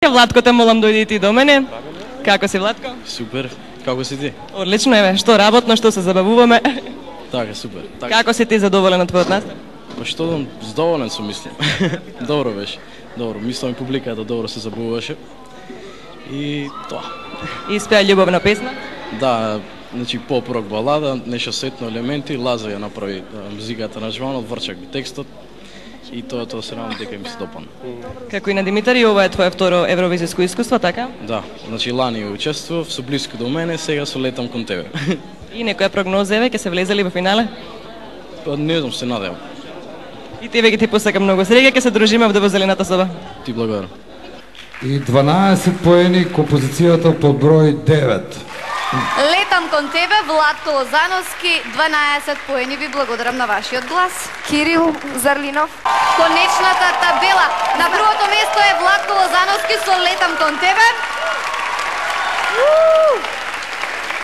Така, Владко, те молам дојди ти до мене. Како си, Владко? Супер. Како си ти? Одлично, еве, што работно, што се забавуваме. Така, супер. Како си ти задоволен од твојот настап? Па што, задоволен сум, мислам. Добро беше. Добро, мислам и публиката добро се забавуваше. И тоа. И спеа љубовна песна? Да, значи поп-рок балада, нешто сетно елементи, Лаза ја направи музиката на живанот, Врчак би текстот. И тоа се надам дека ми се допадна. Како и на Димитар, и ова е твое второ евровизиско искуство, така? Да, значи лани учествував, со блиско до мене, сега со Летам кон тебе. И некоја прогноза еве, ќе се влезели во финале? Па не знам, се надевам. И тебе ги ти посакам многу среќа, ќе се дружиме овде во зелената соба. Ти благодарам. И 12 поени композицијата под број 9. Летам кон тебе, Владко Лозановски, 12 поени, ви благодарам на вашиот глас. Кирил Зарлинов. Конечната табела. На првото место е Владко Лозановски со Летам кон тебе.